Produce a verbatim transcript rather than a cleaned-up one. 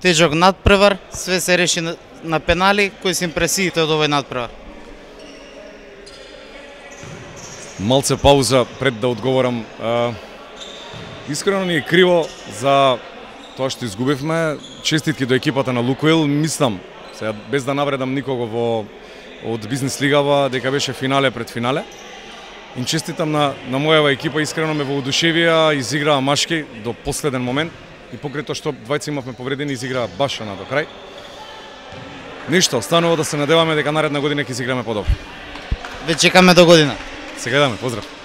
Тежок надпревар, све се реши на, на пенали. Кои се импресиите од овој надпревар? Малце пауза пред да одговорам. А, искрено ни е криво за тоа што изгубивме. Честитки до екипата на Лукоил. Мислам, сега без да навредам никого во од бизнес лигава, дека беше финале пред финале. Им честитам на, на мојава екипа, искрено ме воодушевија, изиграа машки до последен момент и покрај тоа што двајца имавме повредени, изиграа баш на до крај. Ништо, останува да се надеваме дека наредна година ќе изиграме подобро. Ве чекаме до година. Се гледаме, поздрав.